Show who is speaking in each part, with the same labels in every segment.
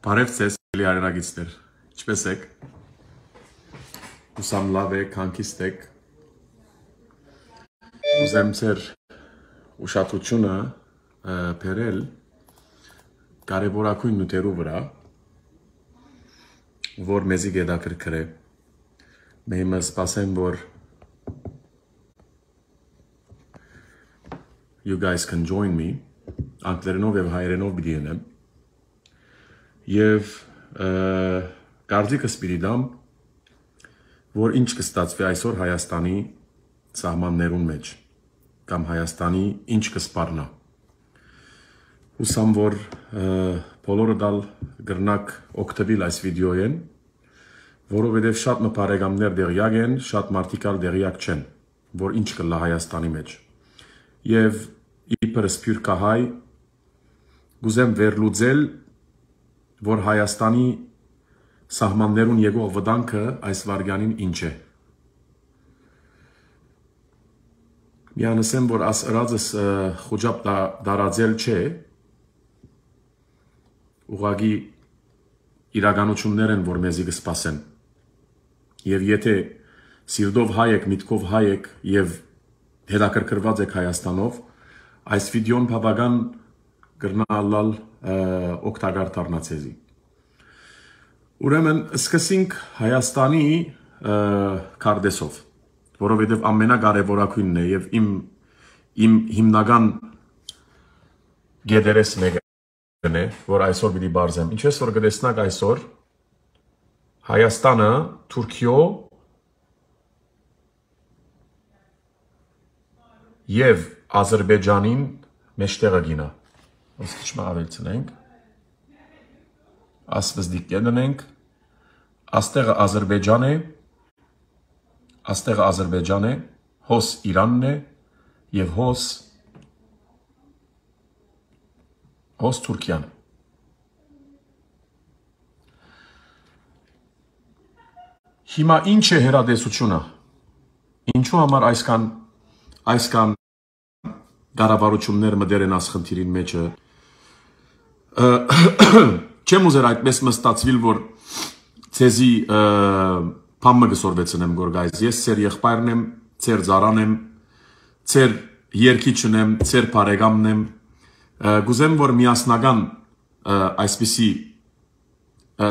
Speaker 1: Բարև ձեզ, ելի հայրենագիցներ, ինչպես եք, ուսամ լավ եք, հանքիստ եք, ուզեմ ձեր ուշադրությունը բերել կարևորագույն նյութերու վրա, որ մեզի հետաքրքրե, մենք սպասեմ, որ you guys can join me, անգլերենով եւ հայերենով պիտի ենեմ, Եվ կարծիքս պիտի դամ, որ ինչ կստացվի այսօր Հայաստանի սահմաններուն մեջ, կամ Հայաստանի ինչ կսպառնա։ Հուսամ, որ բոլորը դալ գրնակ օգտվել այս վիդեոյեն, որովհետև շատ մպարեգամներ դեղյակ են, շատ մարդիկալ դեղյակ չեն, որ ինչ կլա Հայաստանի մեջ։ Եվ իբր սփյուռքահայ գուզեմ վերլուծել որ Հայաստանի սահմաններուն եկող վտանգը այս վարյանին ինչ է։ Միանսեմ, որ ասրածս խոջապ դարաձել չէ, ուղղակի իրականություններ են, որ մեզի կսպասեն։ Եվ եթե սիրտով հայ եք, միտքով հայ եք և հետաքրքրված եք Հայաստանով, այս վիդեոն բավական գրնալալ օգտակար դառնացեզի։ Ուրեմն սկսենք Հայաստանի քարտեզով, որովհետև ամենակարևորագույնն է եւ իմ հիմնական գեդերես մեկն է, որ այսօր պիտի բարձեմ։ Ինչպես որ կտեսնակ այսօր Հայաստանը Թուրքիո եւ Ադրբեջանին մեջտեղը գինա։ Ոսկիչ մավելցնենք, ասվыз դիկեննենք, աստեղը Ադրբեջան է, հոս Իրանն է և հոս Թուրքիան։ Հիմա ինչ է հեռադեսությունը, ինչու համար այսքան կառավարություններ մտեր են ասխնդիրին մեջը, չեմ ուզեր այդպես մստացվիլ, որ ցեզի փամը գսորվեցնեմ գորգայս, ես ծեր եղբայրն եմ, ծեր ծառան եմ, ծեր երկիչն եմ, ծեր բարեկամն եմ, գուզեմ, որ միասնական այսպիսի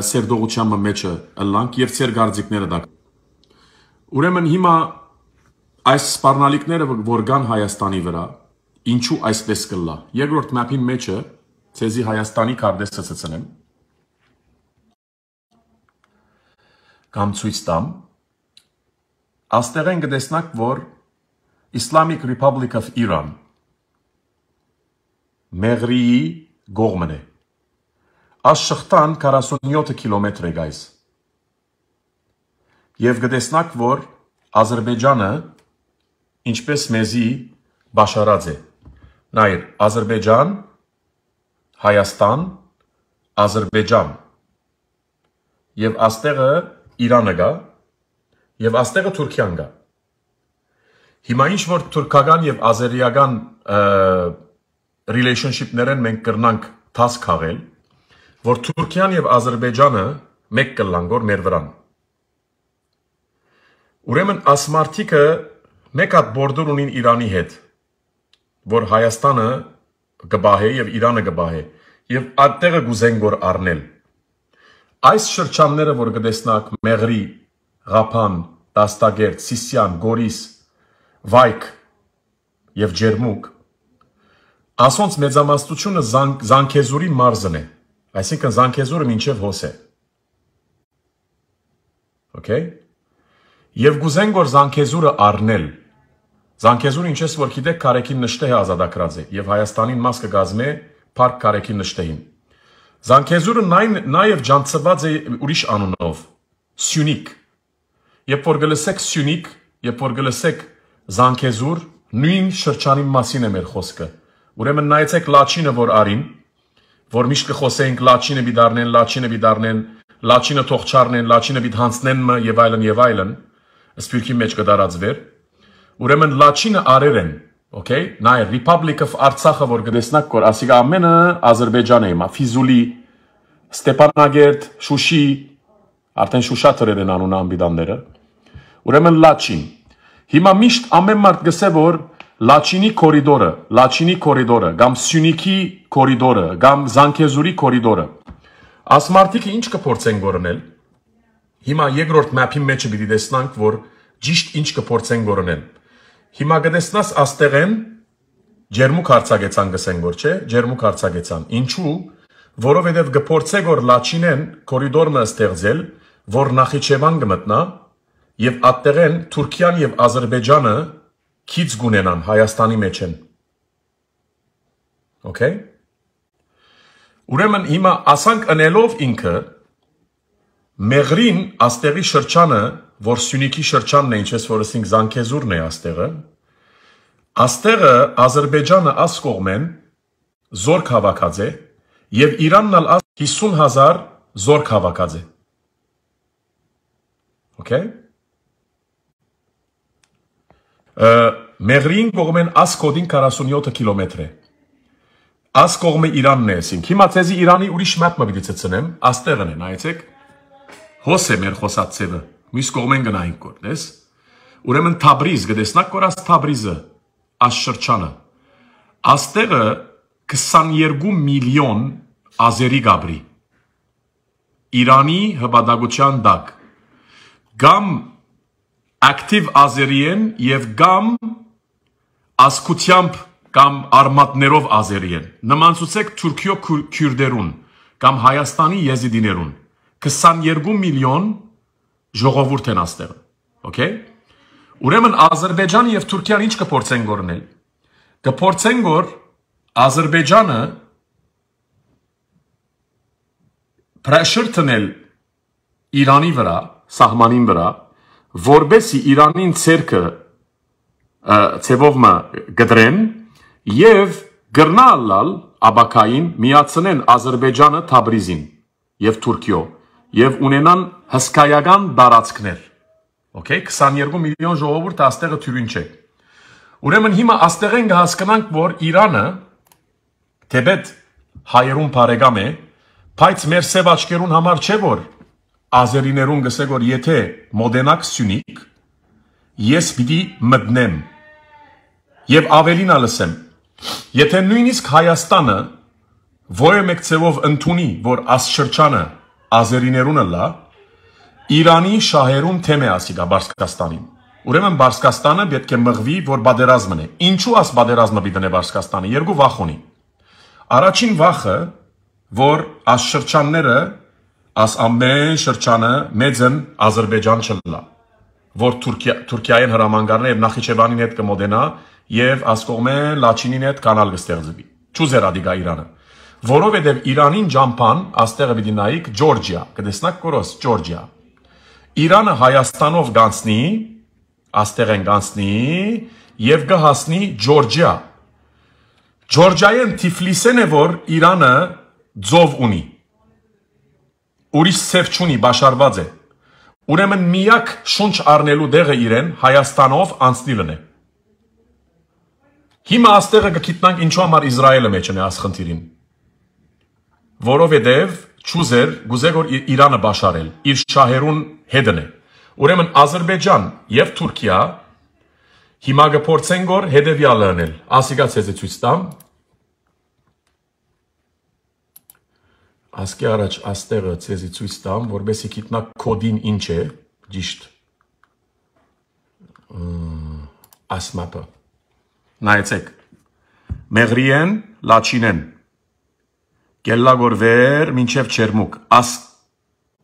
Speaker 1: սերդողության մեջը ըլլանք և ծեր գարձիկները դա։ Ուրեմն հիմա այս սպառնալիքները, որ կան Հայաստանի վրա, ինչու այսպես կլա։ Երկրորդ մապին մեջը ցեզի Հայաստանի քարտեզը ցցնեմ։ Կամ ցույց տամ։ Աստեղեն կտեսնակ, որ Islamic Republic of Iran Մեղրիի գողմն է։ Աշխխտան 47 կիլոմետր է գայս։ Եվ կտեսնակ, որ Ադրբեջանը ինչպես մեզի բաշարած է։ Նայր, Ադրբեջան, Հայաստան, Ադրբեջան և աստեղը Իրանը գա և աստեղը Թուրքիան գա։ Հիմա ինչ որ թուրքական և ազերիական relationship-ներեն մենք կրնանք թաս քաղել, որ Թուրքիան և Ադրբեջանը մեկ կլան գոր մեր վրան։ Ուրեմն ասմարտիկը մեկ հատ բորդոր ունին Իրանի հետ, որ Հայաստանը գբահե և Իրանը գբահե և այդտեղը գուզեն գոր առնել։ Այս շրջանները, որ կտեսնակ Մեղրի, Ղափան, Դաստագերտ, Սիսիան, Գորիս, Վայք և Ջերմուկ, ասոնց մեծամասնությունը Զանգեզուրի մարզն է, այսինքն Զանգեզուրը մինչև հոս է։ Okay? Եվ գուզեն գոր Զանգեզուրը առնել։ Զանգեզուրը ինչպես որ գիտեք կարեկին նշտեհ է ազատագրած է և Հայաստանին մաս կգազմե փառք կարեկին նշտեհին։ Զանգեզուրը նաև ջանցված է ուրիշ անունով, Սյունիք։ Երբ որ գլսեք Սյունիք, երբ որ գլսեք Զանգեզուր, նույն շրջանի մասին է մեր խոսքը։ Ուրեմն նայեցեք Լաչինը որ արին, որ միշտ կխոսեինք Լաչինը պիտի դառնեն, Լաչինը թող չառնեն, Լաչինը պիտի հանցնեն եւ այլն, սփյուռքի մեջ կդարածվեր։ Ուրեմն Լաչինը արեր են, okay? Նայ Republic of Artsakh որ գտեսնակ կոր, ասիկա ամենը Ադրբեջան է, Ֆիզուլի Ստեփանագերտ, Շուշի, արդեն Շուշա թրեր են անուն անբիդանները, ուրեմն Լաչին, հիմա միշտ ամեն մարդ գսե, որ Լաչինի կորիդորը, գամ Սյունիքի կորիդորը, գամ Զանգեզուրի կորիդորը, ասմարտիկը ինչ կփորձեն գորնել, հիմա երկրորդ մապի մեջը պիտի տեսնանք, որ ճիշտ ինչ կփորձեն գորնել, հիմա գտեսնաս աստեղեն ջերմուկ հարցագեցան գսեն գոր, չէ, ջերմուկ հարցագեցան, ինչու, որովհետև գփորձե գոր Լաչինեն կորիդորը ստեղծել, որ Նախիջևան գմտնա եւ այդտեղեն Թուրքիան եւ Ադրբեջանը քիչ գունենան Հայաստանի մեջ են։ Okay? Ուրեմն հիմա ասանք ընելով ինքը Մեղրին աստեղի շրջանը, որ Սյունիքի շրջանն է, ինչպես որ ասենք Զանգեզուրն է աստեղը Ադրբեջանը աս կողմեն զորք հավաքած է եւ Իրանն ալ 50,000 զորք հավաքած է։ Okay? Մեղրին կողմեն աս կոդին 47 կիլոմետր է։ Աս կողմը Իրանն է ասինք։ Հիմա ցեզի Իրանի ուրիշ մապ մը պիտի ցցնեմ, աստեղն է, նայեցեք։ Հոս է մեր խոսած ցևը։ Մյուս կողմեն գնայինք կոր, դես։ Ուրեմն Թաբրիզ գտեսնակ կոր աս Թաբրիզը, աս շրջանը։ Աստեղը 22 միլիոն ազերի գաբրի։ Իրանի հպատակության դակ։ Գամ ակտիվ ազերիեն եւ գամ ասկությամբ կամ արմատներով ազերիեն։ Նմանցուցեք Թուրքիո քյուրդերուն կամ Հայաստանի եզիդիներուն 22 միլիոն ժողովուրդ են աստեղը։ Okay? Ուրեմն Ադրբեջանը եւ Թուրքիան ինչ կփորձեն գորնել։ Կփորձեն գոր Ադրբեջանը pressure տնել Իրանի վրա, սահմանին վրա, որբեսի Իրանին ցերկը ցևովը գդրեն եւ գրնալալ աբակային միացնեն Ադրբեջանը Թաբրիզին եւ Թուրքիո եւ ունենան հսկայական տարածքներ։ Okay, 22 միլիոն ժողովուրդ աստեղը թյուրին չէ։ Ուրեմն հիմա աստեղեն կհասկանանք, որ Իրանը թեպետ հայերուն բարեկամ է, բայց մեր սև աչքերուն համար չէ, որ ազերիներուն գսե որ եթե մոդենակ Սյունիք, ես պիտի մտնեմ եւ ավելին ալսեմ, եթե նույնիսկ Հայաստանը որը մեկ ցևով ընդունի, որ աս շրջանը ազերիներունը լա, Իրանի շահերուն թեմ է ասիգա Բարսկաստանին։ Ուրեմն Բարսկաստանը պետք է մղվի, որ բادرազմն է։ Ինչու աս բادرազմը պիտի Բարսկաստանը, երկու վախ ունի։ Առաջին վախը, որ աս շրջանները, աս ամեն շրջանը մեծն Ադրբեջան չլա, որ Թուրքիային հրամանգարն է եւ Նախիջևանին հետ կմոդենա եւ աս կողմեն Լաչինին հետ կանալ կստեղծվի։ Չուզեր ադիգա Իրանը։ Որովհետեւ Իրանին ջամփան աստեղը պիտի նայիկ Ջորջիա, կտեսնակ կորոս Ջորջիա։ Իրանը Հայաստանով գանցնի, աստեղեն գանցնի եւ կհասնի Ջորջիա։ Ջորջիան Թիֆլիսեն է, որ Իրանը ձով ունի։ Ուրիշ ցև չունի, բաշարված է։ Ուրեմն միակ շունչ առնելու դեղը իրեն Հայաստանով անցնիլն է։ Հիմա աստեղը կգիտնանք ինչու համար Իսրայելը մեջն է ասխնդիրին։ Որովհետև չուզեր գուզեր որ Իրանը բաշարել, իր շահերուն հետն է։ Ուրեմն Ադրբեջան եւ Թուրքիա հիմա կփորձեն գոր հետեւյալը անել։ Ասիկա ցեզի ցույց տամ։ Ասկի առաջ աստեղը ցեզի ցույց տամ, որբեսի գիտնակ կոդին ինչ է, ճիշտ։ Ասմապը։ Նայեցեք։ Մեղրիեն, Լաչինեն։ Գելլագոր վեր, մինչև չերմուկ, աս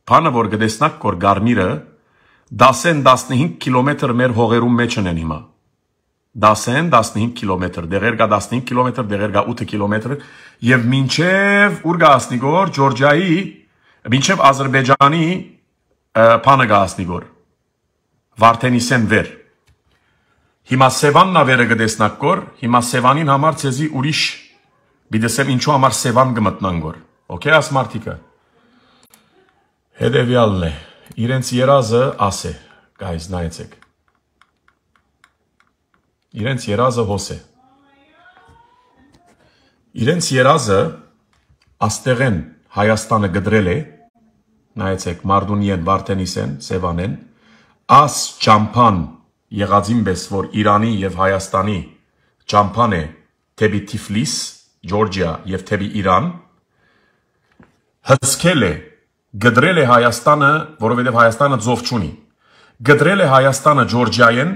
Speaker 1: պանը որ գտեսնակ կոր գարմիրը, 10-15 կիլոմետր մեր հողերում մեջն են հիմա, 10-15 կիլոմետր, դեղեր գա 15 կիլոմետր, դեղեր գա 8 կիլոմետր, և մինչև ուր գա ասնիգոր, Ջորջայի, մինչև Ադրբեջանի պանը գա ասնիգոր, Վարդենիսեն վեր, հիմա Սևանն ավերը գտեսնակ կոր, հիմա Սևանին համար ցեզի ուրիշ Բիդեսեմ ինչու համար Սևան գմտնանգոր, okay, ասմարտիկը, հետևյալն է, իրենց երազը աս է, guys, նայեցեք, իրենց երազը հոս է, իրենց երազը աստեղեն Հայաստանը գդրել է, նայեցեք Մարդունիեն, Վարդենիսեն, Սևանեն, աս ճամփան եղածին պես, որ Իրանի եւ Հայաստանի ճամփան է թեպի Թիֆլիս, Ջորջիա եւ թեպի Իրան, հսկել է, գդրել է Հայաստանը, որովհետեւ Հայաստանը ձով չունի, գդրել է Հայաստանը Ջորջիայեն,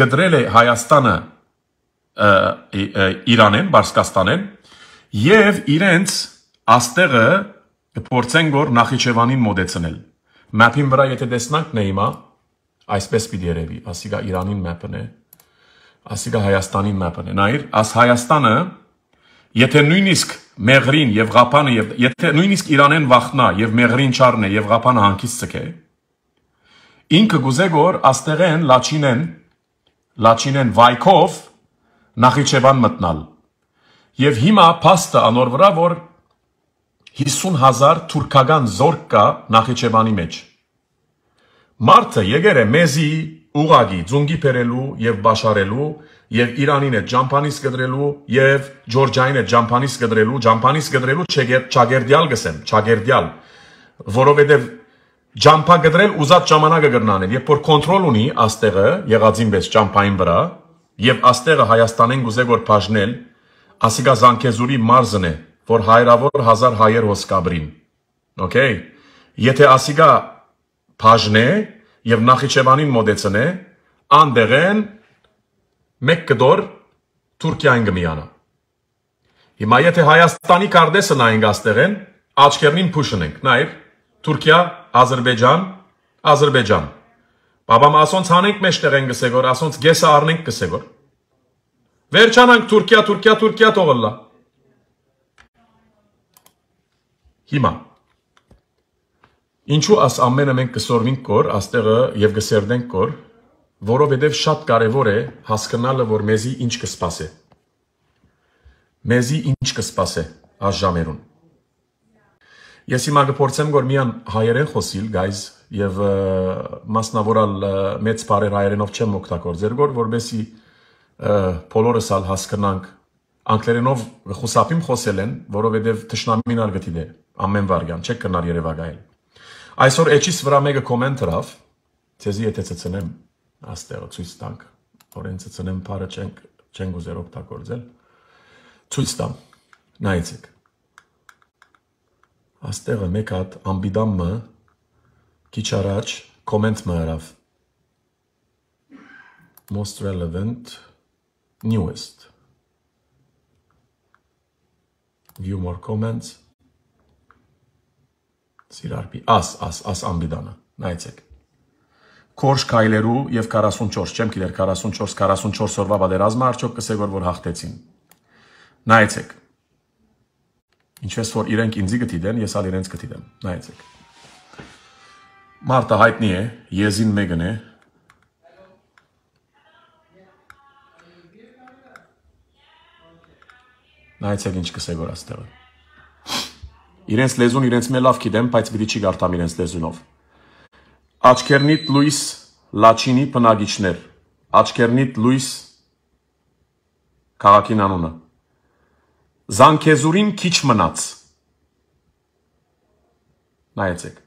Speaker 1: գդրել է Հայաստանը Իրանեն, Բարսկաստանեն եւ իրենց աստեղը կփորձեն գոր Նախիջևանին մոտեցնել։ Մապին վրա եթե տեսնանք նեիմա, այսպես պիտի երևի, ասիգա Իրանին մապն է, ասիգա Հայաստանին մապն է։ Նայր, աս Հայաստանը, եթե նույնիսկ Մեղրին եւ Ղափանը եւ եթե նույնիսկ Իրանեն վախնա եւ Մեղրին չառնե եւ Ղափանը հանկից ցկե, ինքը գուզե գոր աստեղեն լաչինեն վայքով Նախիջևան մտնալ։ Եվ հիմա փաստը անոր վրա, որ 50,000 թուրքական զորք կա Նախիջևանի մեջ։ Մարդը եկել է մեզի ուղագի ձունգի բերելու եւ բաշարելու եւ Իրանին է ճամփանից գդրելու եւ Ջորջիային է ճամփանից գդրելու չագերդյալ գսեմ, չագերդյալ, որովհետեւ ճամփա գդրել ուզած ժամանակը գրնանել, երբ որ կոնտրոլ ունի աստեղը եղածին պես ճամփային վրա եւ աստեղը Հայաստանեն գուզե որ բաժնել, ասիգա Զանգեզուրի մարզն է, որ հայրավոր 1000 հայեր հոսկաբրին։ Okay? Եթե ասիգա բաժնե եւ Նախիջևանին մոտեցնե, անդեղեն մեկ կդոր Թուրքիային գմիանա։ Հիմա եթե Հայաստանի կարդեսը նայենք աստեղեն, աչքերնին փուշնենք, նայր, Թուրքիա, Ադրբեջան։ Բաբամ ասոնց հանենք մեջտեղ են գսեգոր, ասոնց գեսը առնենք գսեգոր։ Վերջանանք Թուրքիա թողլա։ Հիմա ինչու աս ամենը մենք կսորվենք կոր, աստեղը եւ գսերդենք կոր, որովհետեւ շատ կարեւոր է հասկանալը, որ մեզի ինչ կսպասե։ Մեզի ինչ կսպասե այս ժամերուն։ Ես հիմա կփորձեմ որ միան հայերեն խոսիլ, guys, եւ մասնավորալ մեծ բարեր հայերենով չեմ օգտագործել, որովհետեւ բոլորս ալ հասկանանք անգլերենով խուսափիմ խոսել են, որովհետեւ թշնամին ալ գտի դե ամեն վարյան, չեք կնար Երևանայել։ Այսօր էջիս վրա մեկը կոմենտ հրավ, ցեզի եթե ցցնեմ աստեղը ցույց տանք, որեն ցցնեմ բարը չենք ուզեր օգտագործել։ Ցույց տամ, նայեցեք։ Աստեղը մեկ հատ ամբիդամը քիչ առաջ կոմենտ մը հրավ։ Most relevant newest. View more comments. Սիրարպի, աս ամբիդանը, նայեցեք։ Կորշ կայլերու և 44, չեմ կիլեր 44 օրվա բադերազմը արջոք կսեգոր, որ հաղթեցին։ Նայեցեք։ Ինչպես որ իրենք ինձի գտիդեն, ես ալ իրենց գտիդեմ, նայեցեք։ Մարտը հայտնի է, եզին մեկն է։ Նայեցեք ինչ կսեգոր աստեղը։ Իրենց լեզուն իրենց մե լավ գիտեմ, բայց պիտի չի գարտամ իրենց լեզունով։ Աչքերնիտ լույս լաչինի բնագիչներ։ Աչքերնիտ լույս քաղաքին անունը։ Զանգեզուրին քիչ մնաց։ Նայեցեք։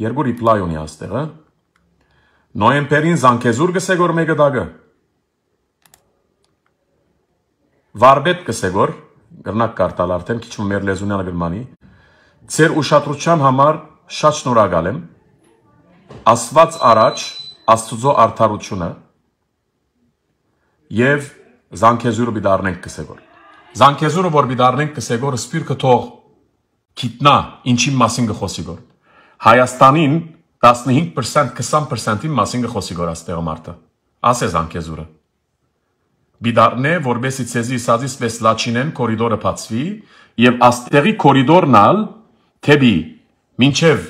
Speaker 1: Երկու ռիպլայ ունի աստեղը։ Նոյեմբերին Զանգեզուր գսեգոր մեկը դագը։ Վարբետ կսեգոր, գրնակ կարտալ արդեն, քիչ մեր լեզունյանը գրմանի, ձեր ուշադրության համար շատ շնորհակալ եմ, Աստված առաջ, Աստուծո արդարությունը եւ Զանգեզուրը բիդարնենք կսեգոր։ Զանգեզուրը որ բիդարնենք կսեգոր, սպիրկը թող գիտնա ինչի մասին կխոսիգոր։ Հայաստանին 15% 20%-ի մասին կխոսիգոր աստեղը մարտը։ Ասե Զանգեզուրը։ Բիդարնե, որբեսի ցեզի սազիս վես լաչինեն կորիդորը բացվի եւ աստեղի կորիդորն ալ թեբի մինչեւ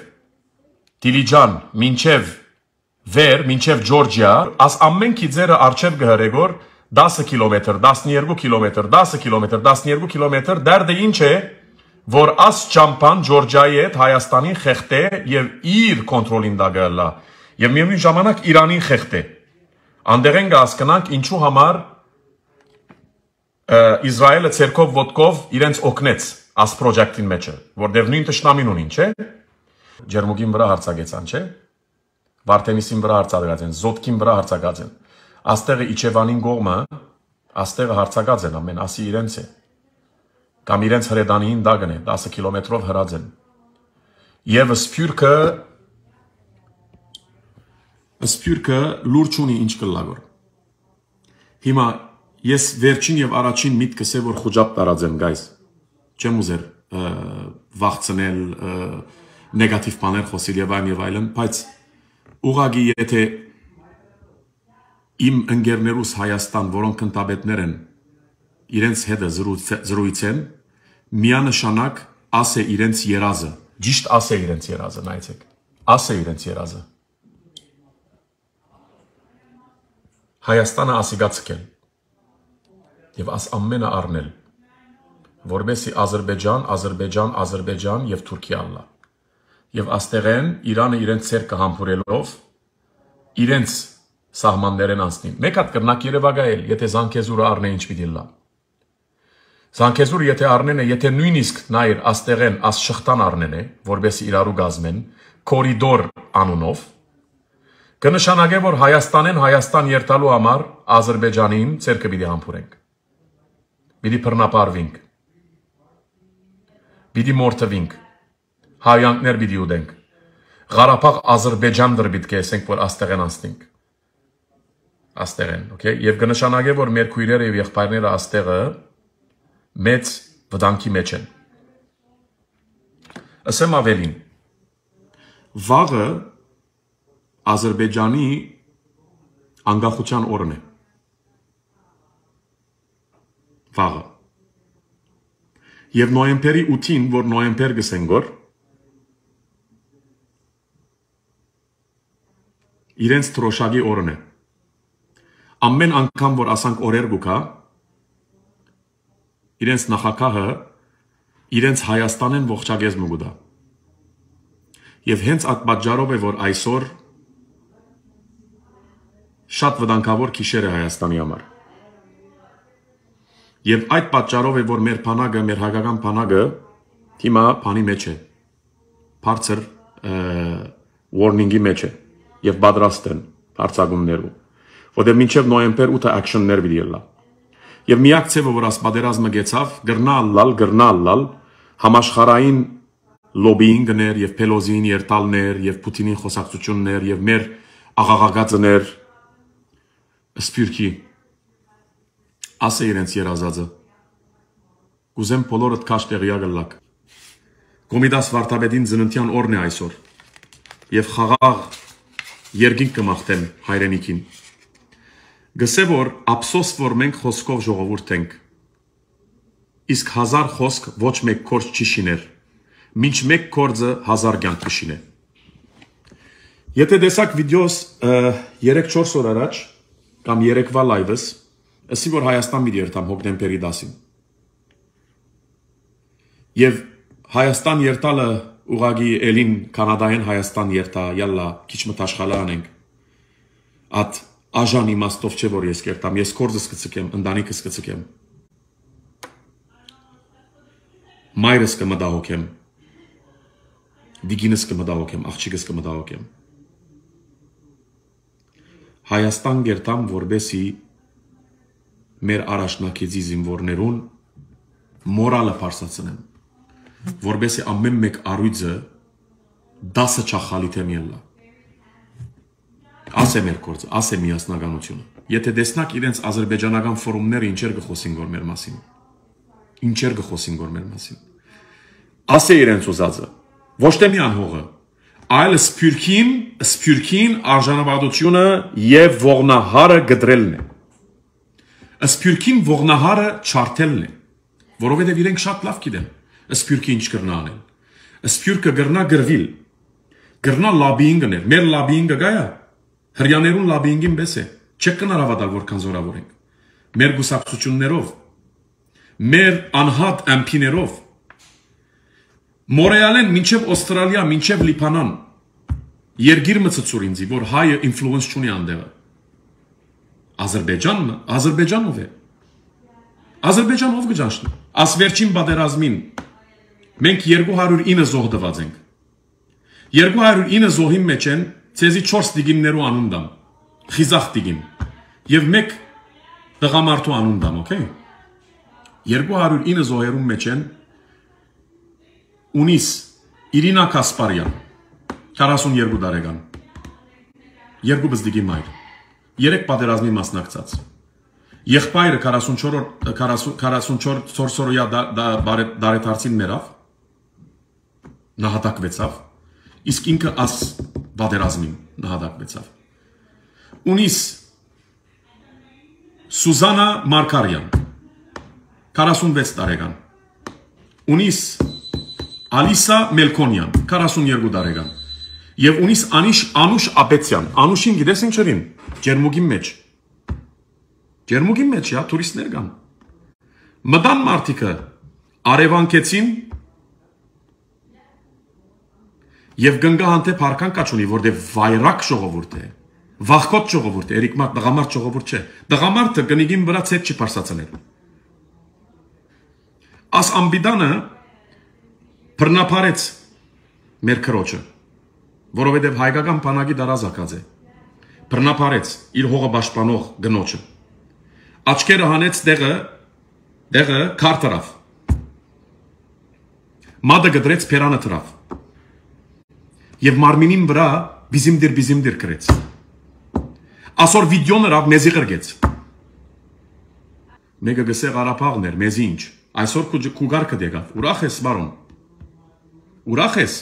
Speaker 1: Դիլիջան, մինչեւ վեր, մինչեւ Ջորջիա, աս ամեն քիձերը արչեւ գհրեգոր 10 կիլոմետր, 12 կիլոմետր, 10 կիլոմետր, 12 կիլոմետր, դարդը ինչ է, որ աս ճամփան Ջորջիայի հետ Հայաստանին խեղտե եւ իր կոնտրոլին դա գալա եւ միևնույն ժամանակ Իրանին խեղտե։ Անդերեն կհասկանանք ինչու համար Իսրայելը ցերկով ոտկով իրենց օգնեց աս պրոջեկտին մեջը, որտեղ նույն տշնամին ունին, չէ՞։ Ջերմուկին վրա հարցակեցան, չէ՞։ Վարդենիսին վրա հարցակած են, Զոտկին վրա հարցակած են։ Աստեղը Իջևանին կողմը, աստեղը հարցակած են ամեն, ասի իրենց է։ Կամ իրենց հրեդանին դագն է, 10 կիլոմետրով հրած են։ Եվ սփյուռքը լուրջ ունի ինչ կլագոր։ Հիմա ես վերջին եւ առաջին միտքս է որ խոճապ տարածեմ, guys։ Չեմ ուզեր վախցնել նեգատիվ բաներ խոսել եւ այլն, բայց ուղղակի եթե իմ ընկերներուս Հայաստան, որոնք ընտաբետներ են, իրենց հետ զրույցեն, միանշանակ ասե իրենց երազը, ճիշտ ասե իրենց երազը, նայեցեք, ասե իրենց երազը։ Հայաստանը ասիգա ցկել եւ աս ամենը առնել, որբեսի Ադրբեջան եւ Թուրքիա ալլա։ Եվ աստեղեն Իրանը իրենց ցերկը համբուրելով իրենց սահմաններեն անցնին։ Մեկ հատ կրնակ Երևանայել, եթե Զանգեզուրը առնե ինչ պիտի լա։ Զանգեզուրը եթե առնեն է, եթե նույնիսկ նայր աստեղեն աս շղթան առնեն է, որբեսի իրարու գազմեն, կորիդոր անունով, կնշանակե որ Հայաստան երթալու համար Ադրբեջանին ցերկը պիտի համբուրենք։ Պիտի բռնապարվենք։ Պիտի մորթվենք։ Հայյանքներ պիտի ուտենք։ Ղարաբաղ Ադրբեջան դր պիտի կեսենք, որ աստեղեն անցնենք։ Աստեղեն, okay? Եվ կնշանակե որ մեր քույրերը եւ եղբայրները աստեղը մեծ վտանգի մեջ են։ Ասեմ ավելին։ Վաղը Ադրբեջանի անկախության օրն է։ Վաղը։ Եվ նոյեմբերի 8-ին, որ նոյեմբեր գսեն գոր, իրենց թրոշակի օրն է։ Ամեն անգամ, որ ասանք օրեր գուկա, իրենց նախագահը իրենց Հայաստանեն ողջագեզ մուգուդա։ Եվ հենց այդ պատճառով է, որ այսօր շատ վտանգավոր քիշեր է Հայաստանի համար։ Եվ այդ պատճառով է, որ մեր բանակը, մեր հայկական բանակը հիմա բանի մեջ է։ Բարձր warning-ի մեջ է եւ պատրաստ են հարցակումներու։ Որտեղ մինչեւ նոյեմբեր 8-ը action-ներ պիտի լա։ Եվ միակ ցեվը, որ աս պատերազմը գեցավ, գրնալ համաշխարհային լոբինգներ եւ Պելոզին երտալներ եւ Պուտինին խոսակցություններ եւ մեր աղաղակածներ սփյուռքի ասե իրենց երազածը կուզեմ բոլորդ քաշ տեղյակ լակ Կոմիտաս վարդապետին ծննդյան օրն է այսօր եւ խաղաղ երկինք կմաղթեմ հայրենիքին գսե որ ափսոս որ մենք խոսքով ժողովուրդ ենք իսկ 1000 խոսք ոչ մեկ կորց չի շիներ մինչ մեկ կորձը 1000 կյանք կշինե Եթե տեսակ վիդեոս 3-4 օր առաջ կամ 3-վա լայվս, ասի որ Հայաստան մի երթամ հոկտեմբերի 10-ին։ Եվ Հայաստան երթալը ուղագի էլին կանադայեն Հայաստան երթա, յալլա, քիչ մտաշխալը անենք։ At աժան իմաստով չէ որ ես կերտամ, ես կորձս կցկեմ, ընտանիքս կցկեմ։ Մայրս կմտահոգեմ։ Դիգինս կմտահոգեմ, աղջիկս կմտահոգեմ։ Հայաստան գերտամ որբեսի մեր առաջնակիցի զինվորներուն մորալը պարսացնեմ որբեսի ամեն մեկ առույցը 10 չախալիթեմ ելլա ասե մեր կորձը, ասե միասնականությունը եթե տեսնակ իրենց ադրբեջանական ֆորումները ինչեր գխոսին գոր մեր մասին ինչեր գխոսին գոր մեր մասին ասե իրենց ուզածը ոչ թե մի անհողը այլ սփյուռքին արժանապատվությունը եւ ողնահարը գդրելն է սփյուռքին ողնահարը չարթելն է որովհետեւ իրենք շատ լավ գիտեն սփյուռքի ինչ կրնա անել սփյուռքը գրնա գրվիլ գրնա լոբինգներ մեր լոբինգը գայա հрьяաներուն լոբինգին բես է չեք կնարավատալ որքան զորավոր ենք մեր գուսակցություններով մեր անհատ ամփիներով Մորեալեն մինչև Ավստրալիա, մինչև Լիբանան Երգիր մցծուր ինձի, որ հայը ինֆլուենս չունի անդեղը Ադրբեջանն ով է Ադրբեջան ով կճանչնի։ Աս վերջին պատերազմին մենք 209 զոհ տված ենք։ 209 զոհի մեջ են ցեզի 4 դիգիմներու անուն դամ։ Խիզախ դիգիմ։ Եվ 1 տղամարդու անուն դամ, օքեյ։ 209 զոհերու մեջ են ունիս Իրինա Կասպարյան 42 տարեկան։ 2 բզդիգի մայր։ 3 պատերազմի մասնակցած։ Եղբայրը 44-օրյա դարեթարցին մեռավ, նահատակվեցավ, իսկ ինքը աս պատերազմին նահատակվեցավ։ Ունիս Սուզանա Մարկարյան 46 տարեկան։ Ունիս Ալիսա Մելքոնյան 42 տարեկան։ Եվ ունիս Անուշ Աբեցյան, Անուշին գիտես ինչ երին, ջերմուգի մեջ։ Ջերմուգի մեջ, հա, տուրիստներ կան։ Մտան մարդիկը արևանքեցին եւ գնգահանտե փարքան կաչունի, որտեղ վայրակ ժողովուրդ է, վախկոտ ժողովուրդ է, երիկմա տղամարդ ժողովուրդ չէ։ Տղամարդը կնիգին վրա ցետ չի փարսացնել։ Աս ամբիդանը բռնապարեց մեր քրոջը, որովհետեւ հայկական բանակի դարազակած է։ Բռնապարեց իր հողը պաշտպանող գնոջը։ Աչքերը հանեց դեղը քարտարավ։ Մադը գդրեց փերանը դրավ։ Եվ մարմինին վրա բիզիմդիր գրեց։ Ասոր վիդեոն ռավ մեզի գրգեց։ Մեկը գսե Ղարաբաղն էր, մեզի ինչ։ Այսօր քուգարկը դեկավ։ Ուրախ ես, բարոն։ Ուրախ ես։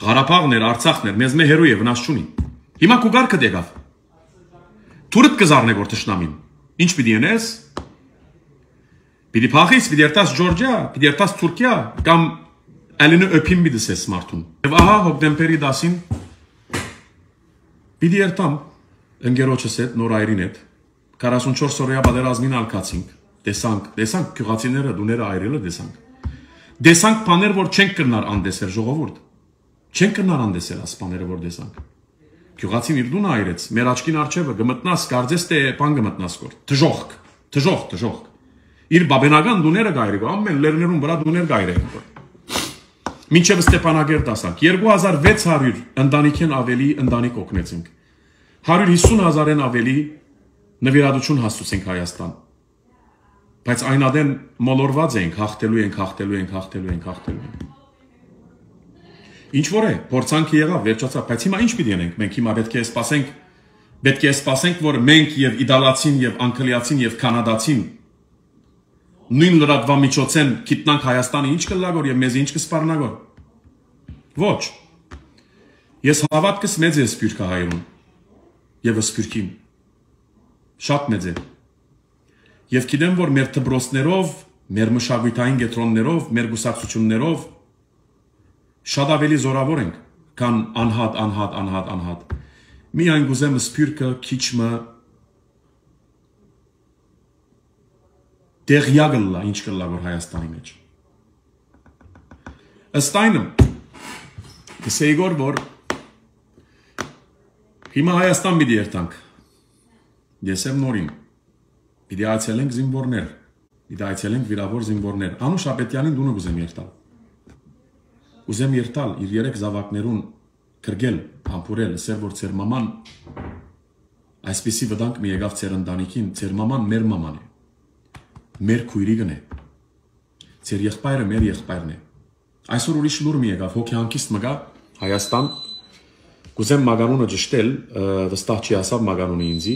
Speaker 1: Ղարաբաղն էր, Արցախն էր, մեզ մե հերոյ է վնաս չունի։ Հիմա քուգարկը դեկավ։ Թուրդ կզարնե որ տշնամին։ Ինչ պիտի ենես։ Պիտի փախիս, պիտի երտաս Ջորջիա, պիտի երտաս Թուրքիա, կամ ալինը öpim մի դսես մարդուն։ Եվ ահա հոկտեմբերի 10-ին պիտի երտամ ընկերոջս հետ, նոր այրին հետ, 44 օրյա պատերազմին ալկացինք, տեսանք գյուղացիները, դուները այրելը տեսանք։ Տեսանք բաներ, որ չենք կրնար անդեսել ժողովուրդ։ Չենք կրնար անդեսել աս բաները, որ տեսանք։ Գյուղացին իր դունը այրեց, մեր աչքին արջևը գմտնաս, կարծես թե բան գմտնաս կոր։ Թժողք։ Իր բաբենական դուները գայրի, ամեն լերներուն վրա դուներ գայրեն կոր։ Մինչև Ստեփանագերտ ասանք, 2600 ընտանիքեն ավելի ընտանիք օգնեցինք։ 150,000-ն ավելի նվիրատություն հասցուցենք Հայաստան։ Բայց այնադեն մոլորված ենք, հաղթելու ենք։ Ինչ որ է, փորձանքը եղավ, վերջացավ, բայց հիմա ինչ պիտի անենք, մենք հիմա պետք է սպասենք, որ մենք եւ իդալացին եւ անգլիացին եւ կանադացին նույն լրատվամիջոցեն գիտնանք Հայաստանը ինչ կլագոր եւ մեզ ինչ կսպառնագոր։ Ոչ։ Ես հավատքս մեծ է սփյուռքը հայրուն եւ սփյուռքին։ Շատ մեծ է։ Եվ գիտեմ, որ մեր դպրոցներով, մեր մշակութային կենտրոններով, մեր գուսակցություններով շատ ավելի զորավոր ենք, քան անհատ։ Միայն գուզեմ սփյուռքը քիչմը դեղյագլա ինչ կլա որ Հայաստանի մեջ։ Ըստ այնմ գսեյգոր որ հիմա Հայաստան պիտի երթանք։ Ես եմ նորին։ Պիտի այցելենք զինվորներ, պիտի այցելենք վիրավոր զինվորներ։ Անուշ Աբետյանին դունը գուզեմ երթալ։ Ուզեմ երթալ իր 3 զավակներուն կրգել, համբուրել, ասել որ ծեր մաման այսպիսի վտանգ մի եկավ ծեր ընտանիքին, ծեր մաման մեր մաման է, մեր քույրիկն է, ծեր եղբայրը մեր եղբայրն է։ Այսօր ուրիշ լուր մի եկավ, հոգեհանկիստ մգա Հայաստան, կուզեմ մագանունը ճշտել, վստահ չի ասավ մագանունը ինձի,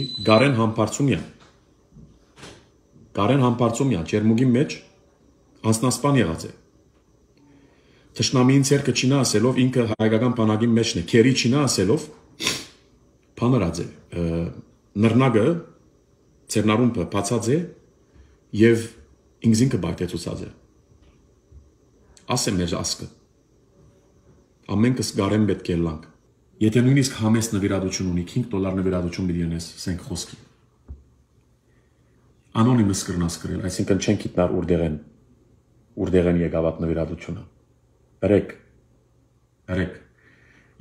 Speaker 1: Գարեն Համբարձումյան, Ջերմուգի մեջ անձնասպան եղած է։ Թշնամին ցերկը չինա ասելով ինքը հայկական բանակի մեջն է, քերի չինա ասելով բանրած է, նռնագը ցերնարումը բացած է եւ ինքզինքը բայտեցուցած է։ Ասեմ մեր ասկը։ Ամենքս գարեն պետք է լանք։ Եթե նույնիսկ համես նվիրատություն ունի, $5 նվիրատություն պիտի ունես, ասենք խոսքի։ Անոնիմս կրնաս կրել, այսինքն չեն գիտնար ուրդեղեն եկավատ նվիրատությունը։ Հրեք։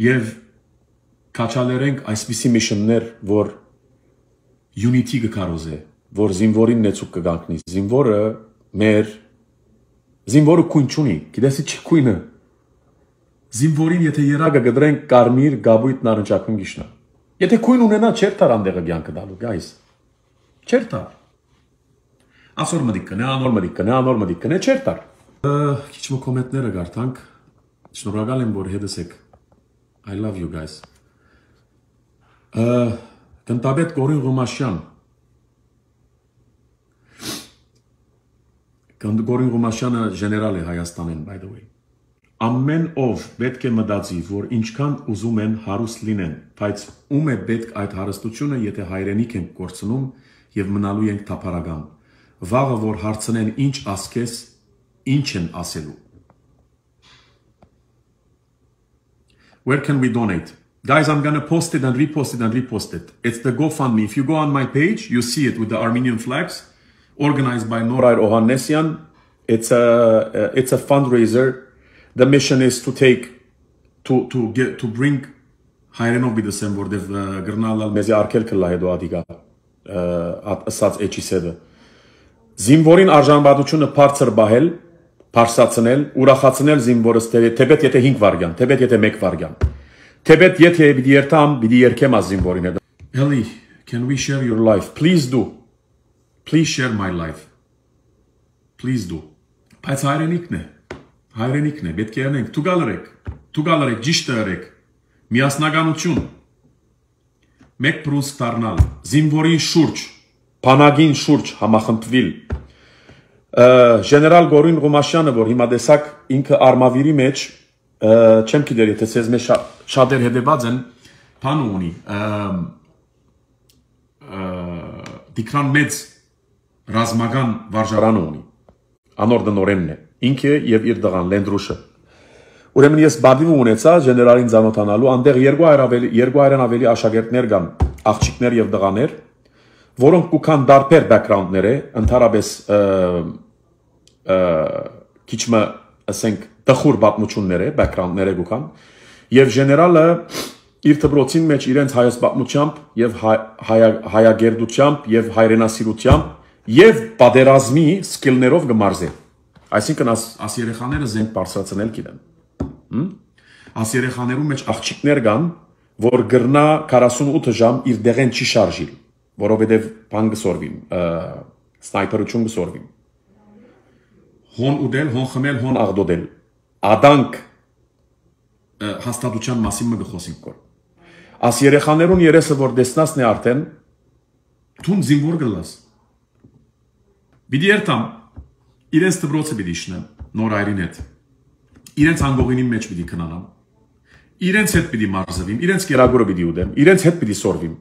Speaker 1: Եվ կաչալերենք այսպիսի միշններ, որ unity կկարոզ է, որ զինվորին նեցուկ կգանքնի։ Զինվորը քույն չունի, գիտես չի քույնը։ Զինվորին եթե երագը գդրենք կարմիր գաբույտ նարնջակուն գիշնա։ Եթե քույն ունենա չեր տար անդեղը ցանկը դալու, guys։ Չեր տար։ Ասոր մդիկ կնե, անոր մդիկ կնե, չեր տար։ Քիչ մո կոմենտները գարտանք։ Շնորհակալ եմ, որ հետս եք։ I love you guys։ Տնտաբեդ Գորին Ղումաշյան։ Գորին Ղումաշյանը ժեներալ է Հայաստանին, by the way։ Ամեն ով պետք է մտածի, որ ինչքան ուզում են հարուստ լինեն, բայց ում է պետք այդ հարստությունը, եթե հայրենիք ենք կորցնում եւ մնալու ենք թափառական։ Վաղը որ հարցնեն ինչ ասքես, ինչ են ասելու։ Where can we donate? Guys, I'm gonna post it and repost it and repost it. It's the GoFundMe. If you go on my page, you see it with the Armenian flags, organized by Noray Ohannesyan. It's a fundraiser. The mission is to bring հայերենով բիդսեմ որտեվ գրնալալ մեզի արկել կլա հետո ադիգա ասած էչիսեդը զինվորին արժանապատվությունը բարձր բահել բարձրացնել ուրախացնել զինվորը թեպետ եթե 5 վարգյան թեպետ եթե 1 վարգյան թեպետ եթե պիտի երթամ պիտի երկեմ az զինվորին հետ Ellie, can we share your life? Please do. Please share my life. Please do. Բայց հայրենիքն է, պետք է անենք, տուգալ ըրեք, ճիշտ ըրեք, միասնականություն, մեկ պրուսկ դառնալ, զինվորին շուրջ, բանակին շուրջ համախմբվել, ժեներալ Գորին Ղումաշյանը, որ հիմա տեսակ ինքը արմավիրի մեջ, չեմ գիտեր, եթե ցեզ մեջ շատեր հետևած են, բան ունի, դիկրան մեծ ռազմական վարժարան ունի, անոր դնորենն է, ինքը եւ իր դղան Լենդրուշը Ուրեմն ես բադիվ ունեցա ժեներալին ծանոթանալու այնտեղ 200-ն ավելի աշակերտներ կան, աղջիկներ եւ տղաներ, որոնք կան դարբեր բեքգրաունդներ, ընդհանրապես քիչ մը ասենք տխուր պատմություններ, բեքգրաունդներ կան, եւ ժեներալը իր դպրոցին մեջ իրենց հայոց պատմությամբ եւ հայագերդությամբ եւ հայրենասիրությամբ եւ պատերազմի սկիլներով կմարզե Այսինքն աս երեխաները զենք բարձրացնել գիտեն Աս երեխաներու մեջ աղջիկներ կան, որ գրնա 48 ժամ իր դեղեն չի շարժիլ, որովհետև բան կսորվին, սնայպերություն կսորվին։ Հոն ուդել, հոն խմել, հոն աղդոդել։ Ադանք հաստատության մասին մը գխոսինք կոր։ Աս երեխաներուն երեսը որ դեսնասն է արդեն, թուն զինվոր գլաս։ Բիդի երտամ, իրենց դպրոցը բիդի շնեմ, նոր այրին հետ։ Իրենց անգողինի մեջ պիտի քնանամ, իրենց հետ պիտի մարզվիմ, իրենց կերագորը պիտի ուդեմ, իրենց հետ պիտի սորվիմ։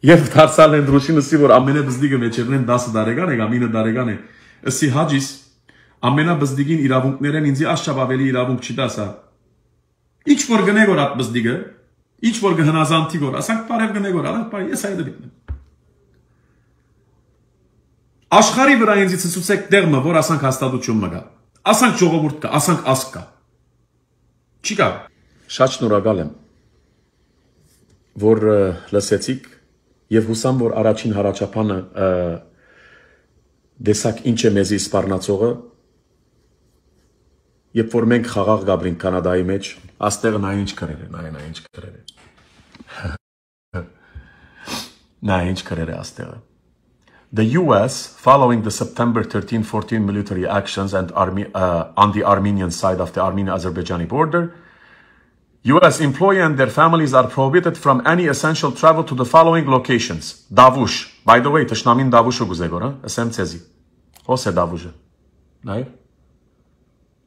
Speaker 1: Եվ դարձալ են դրոշինսի, որ ամենաբզդիգը մեջերնեն 10 տարեկան է, կամ 9 տարեկան է, ըսի հաջիս, ամենաբզդիգին իրավունքներ են, ինձի աշճապ ավելի իրավունք չի դասա։ Ինչ որ գնե գոր at բզդիգը, ինչ որ գհնազանտի գոր, ասանք բարև գնե գոր, արդ բարի, ես այդ դիտնեմ։ Աշխարհի վրա ինձ ցույցեք դերմը, որ ասանք հաստատություն մը կա։ Ասանք ժողովուրդ կա, ասանք ազգ կա։ Չի կա։ Շատ շնորհակալ եմ, որ լսեցիք եւ հուսամ, որ առաջին հարաճապանը դեսակ ինչ է մեզի սպառնացողը, երբ որ մենք խաղաղ գաբրինք Կանադայի մեջ, աստեղը նա ինչ կրեր է, նա ինչ կրեր է։ Նա ինչ կրեր է աստեղը։ The US, following the September 13-14 military actions and on the Armenian side of the Armenian-Azerbaijani border, US employees and their families are prohibited from any essential travel to the following locations. Davush. By the way, Tashnamin Davushu guzegora, asem tsezi. Hos e Davushe. Nay?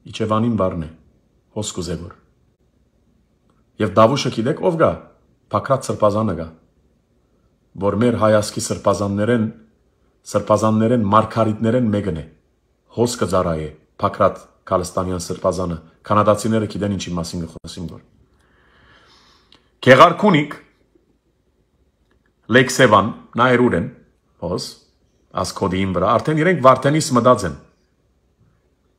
Speaker 1: Ichevanin varne. Hos guzegor. Եվ Davushe գիտեք ով գա? Փակրած սրբազանը գա։ Որ մեր հայասկի սրբազաններեն մարգարիտներեն մեկն է։ Հոս կծարայե Փակրատ Քալստանյան սրբազանը։ Կանադացիները գիտեն ինչի մասին գխոսին գոր։ Գեղարքունիկ Լեքսևան նայրուրեն հոս ասկոդին վրա արդեն իրենք Վարդենիս մտած են։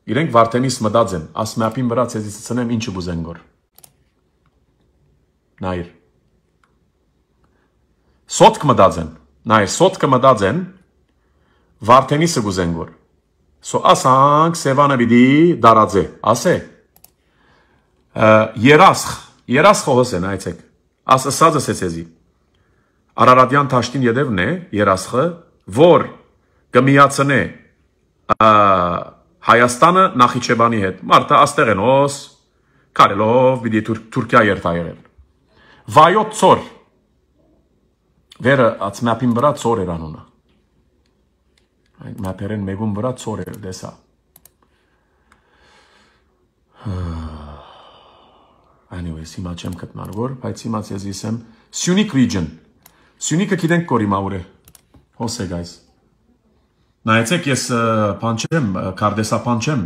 Speaker 1: Իրենք Վարդենիս մտած են, ասմապին վրա ցեզից ցնեմ ինչը գուզեն գոր։ Նայր Սոտք մտած են, նայր սոտքը մտած են Վարդենիսը գուզենգոր։ So ասանք Սևանը պիտի դարածե, ասե։ Երասխ հոսեն այցեք։ Ասածը սեցեզի։ Արարատյան Թաշտին յետևն է երասխը, որ կմիացնե Հայաստանը Նախիջևանի հետ։ Մարտը աստեղենոս, կարելով պիտի Թուրքիա երթայերել։ Վայոց ծոր։ Վերը ացմապին վրա ծոր էր անունը։ Այդ մապերեն մեգուն վրա ծոր էր դեսա։ Anyways, հիմա չեմ գտնել որ, բայց հիմա ես իսեմ Syunik region։ Syunik-ը գիտենք կորի մաուր է։ Հոսե guys։ Նայեցեք ես փանչեմ, կարդեսա փանչեմ։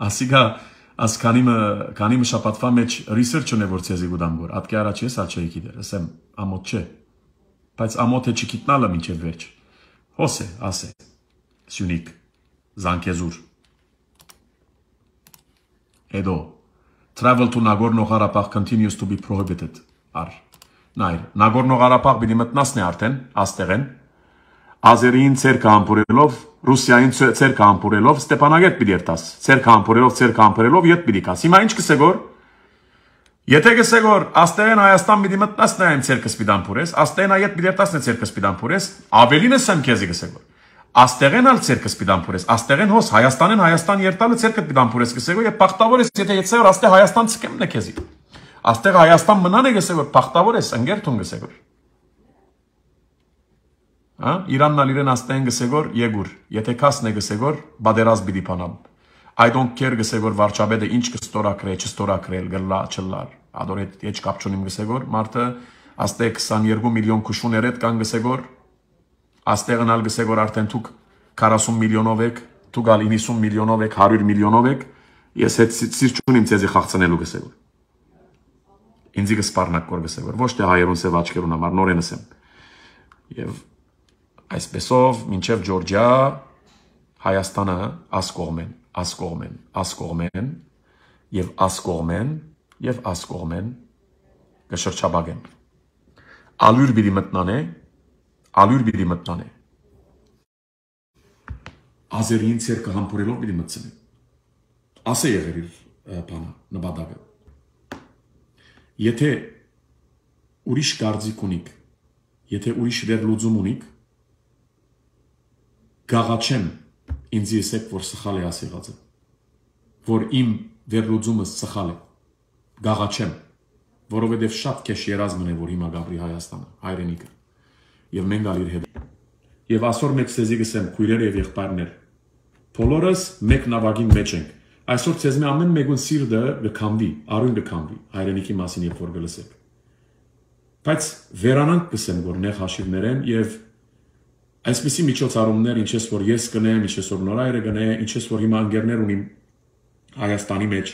Speaker 1: Ասիգա ասքանիմը շապատվա մեջ research ունե որ ցեզի գուդամ որ։ Ատկի առաջ ես աչեի գիտեր, ասեմ ամոթ չէ։ Բայց ամոթ է չգիտնալը մինչև վերջ։ Հոսե, ասե։ Syunik, Zangezur։ Edo. Travel to Nagorno-Karabakh continues to be prohibited. Նայր, Nagorno-Karabakh պիտի մտնասն է արդեն, աստեղեն, Ազերին ցերկը համբուրելով, Ռուսիային ցերկը համբուրելով, Ստեփանագերտ պիտի երտաս, ցերկը համբուրելով, յետ պիտի կաս։ Հիմա ինչ կսեգոր։ Եթե կսեգոր, աստեղեն Հայաստան պիտի մտնասն է այն ցերկը պիտի համբուրես, աստեղեն յետ պիտի երտասն է ցերկը պիտի համբուրես, ավելին է սեմ քեզի կսեգոր։ Աստեղեն ալ ցերկը պիտի համբուրես, աստեղեն հոս Հայաստանեն Հայաստան երտալը ցերկը պիտի համբուրես կսեգոր, եւ բախտավոր ես եթե եცեոր աստեղ Հայաստան ցկեմն է քեզի։ Աստեղ Հայաստան մնան է գսեգոր, բախտավոր ես ընկերտուն գսեգոր։ Հա, Իրանն ալ իրեն աստեղեն գսեգոր, եգուր, եթե կասն է գսեգոր, բادرազ պիտի փանամ։ I don't care գսեգոր վարչապետը ինչ կստորակրե, չստորակրել, գլա, չլար։ Ադոր հետ կապ չունիմ գսեգոր, մարդը աստեղ 22 միլիոն քուշուներ հետ կան գսեգոր, աստեղն ալ գսեգոր արդեն դուք 40 միլիոնով եք, դուք ալ 90 միլիոնով եք, 100 միլիոնով եք, ես հետ սիրտ չունիմ ցեզի խաղցնելու գսեգոր։ Ինձի կսպառնակ կոր գսեգոր, ոչ թե հայերուն սև աչքերուն համար նորենս եմ։ Եվ այսպեսով մինչև Ջորջիա Հայաստանը ասկողմեն կշրջաբագեն։ Ալյուր բիդի մտնանե, Ազերին ցերկը համբուրելով բիդի մտնանե։ Ասե եղեր իր բանը, նպատակը։ Եթե ուրիշ կարծիք ունիք, եթե ուրիշ վերլուծում ունիք, գաղաչեմ ինձ եսեք, որ սխալ է ասեղածը, որ իմ վերլուծումս սխալ է, գաղաչեմ, որովհետև շատ քեշ երազմն է, որ հիմա գաբրի Հայաստանը, հայրենիքը, և մենք ալիր հետ։ Եվ ասոր մեկ սեզի գսեմ, քույրեր և եղբայրներ, բոլորս մեկ նավագին մեջ ենք, այսօր ցեզ մի ամեն մեկուն սիրտը գքամվի, արույն գքամվի, հայրենիքի մասին երբ որ գլսեք։ Բայց վերանանք գսեմ, որ նեղ հաշիվներ են և այսպիսի միջոցառումներ, ինչպես որ ես կնեմ, ինչպես որ նորայրը գնե, ինչպես որ հիմա ընկերներ ունիմ Հայաստանի մեջ,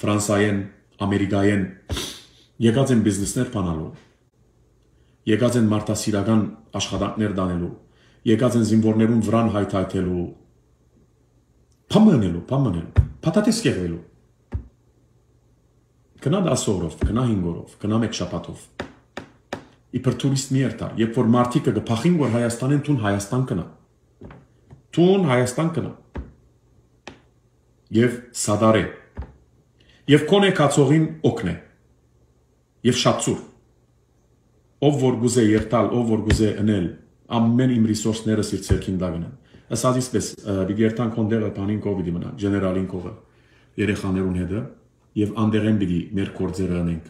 Speaker 1: Ֆրանսիայեն, Ամերիկայեն, եկած են բիզնեսներ բանալու, եկած են մարդասիրական աշխատանքներ դանելու, եկած են զինվորներուն վրան հայթայթելու, փամնելու, փաթաթես կեղվելու, կնա 10 օրով, կնա 5 օրով, կնա 1 շաբաթով, իբր տուրիստ մի երթար, երբ որ մարդիկը գփախին, որ Հայաստանեն տուն Հայաստան կնա, և սադարե, և կոնե կացողին օքնե, և շատցուր, ով որ գուզե երթալ, ով որ գուզե ընել, ամեն իմ ռիսորսները սիր ցերքին դագնեն, ասած իսպես, բիգ երթան կոնդեղը պանին կովիդի մնան, ժեներալին կողը, երեխաներուն հետը, և անդեղեն բիգի մեր կործերը ընենք,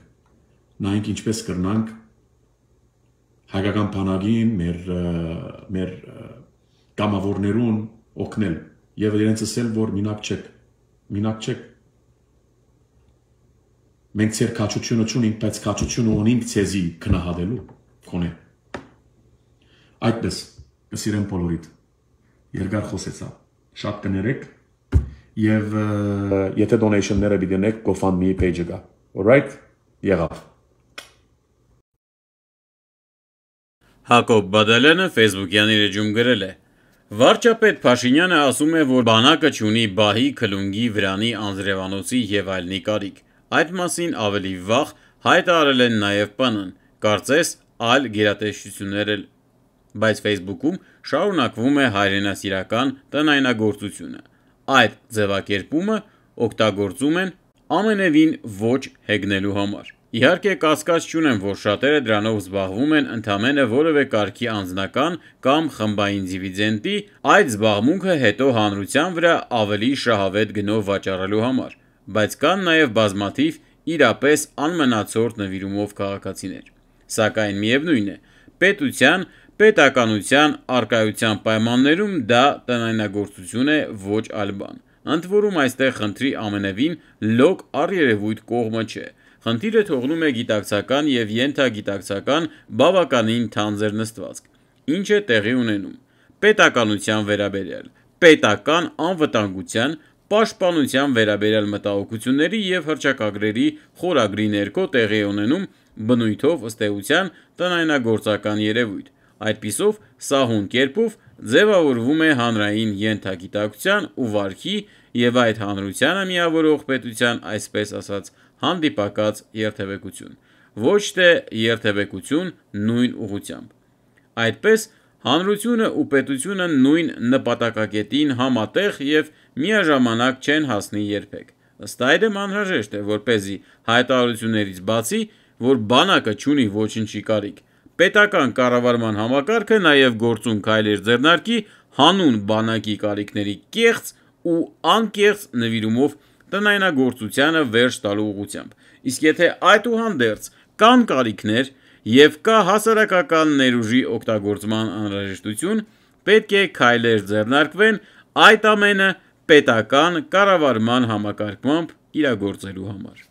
Speaker 1: նայինք ինչպես կրնանք, հայկական բանակին, մեր կամավորներուն օգնել եւ իրենց ասել, որ մինակ չեք։ Մենք ցեր քաչությունը չունենք, բայց քաչությունը ունենք ցեզի քնահատելու կոնե։ Այդպես կսիրեմ բոլորիդ։ Երկար խոսեցա։ Շատ կներեք եւ եթե donation-ները դինեք GoFundMe page-ը գա։ Alright? Եղավ։
Speaker 2: Հակոբ Բադալյանը Facebook-յան իր էջում գրել է. Վարչապետ Փաշինյանը ասում է, որ բանակը չունի բահի, քլունգի, վրանի, անձրևանոցի եւ այլնի կարիք։ Այդ մասին ավելի վաղ հայտարարել են նաեւ ՊՆ-ն, կարծես այլ գերատեսչություններ էլ բայց Facebook-ում շարունակվում է հայրենասիրական տնայնագործությունը։ Այդ ձևակերպումը օգտագործում են ամենևին ոչ հեգնելու համար։ Իհարկե, կասկած չունեմ, որ շատերը դրանով զբաղվում են ընդամենը որևէ կարգի անձնական կամ խմբային դիվիդենդի, այդ զբաղմունքը հետո հանրության վրա ավելի շահավետ գնով վաճառելու համար, բայց կան նաև բազմաթիվ իրապես անմնացորդ նվիրումով քաղաքացիներ։ Սակայն միևնույն է, պետականության առկայության պայմաններում դա տնայնագործություն է, ոչ այլ բան։ Ընդ որում այստեղ խնդրի ամենևին լոկ առերևույթ կողմը չէ։ Խնդիրը թողնում է գիտակցական և ենթագիտակցական բավականին թանձր նստվածք, ինչ է տեղի ունենում պետականության վերաբերյալ, պետական անվտանգության, պաշտպանության վերաբերյալ մտահոգությունների և հռչակագրերի խորագրի ներքո տեղի է ունենում բնույթով ըստ էության տնայնագործական երևույթ։ Այդպիսով սահուն կերպով ձևավորվում է հանրային ենթագիտակցության ու վարքի և այդ հանրությանը միավորող պետության այսպես ասած հանդիպակաց երթևեկություն, ոչ թե երթևեկություն նույն ուղղությամբ։ Այդպես հանրությունը ու պետությունը նույն նպատակակետին համատեղ և միաժամանակ չեն հասնի երբեք։ Ըստ այդմ անհրաժեշտ է, որպեսզի հայտարարություններից բացի, որ բանակը չունի ոչնչի կարիք, պետական կառավարման համակարգը նաև գործուն քայլեր ձեռնարկի հանուն բանակի կարիքների կեղծ ու անկեղծ նվիրումով տնայնագործությանը վերջ տալու ուղղությամբ։ Իսկ եթե այդուհանդերձ կան կարիքներ և կա հասարակական ներուժի օգտագործման անհրաժեշտություն, պետք է քայլեր ձեռնարկվեն այդ ամենը պետական կառավարման համակարգմամբ իրագործելու համար։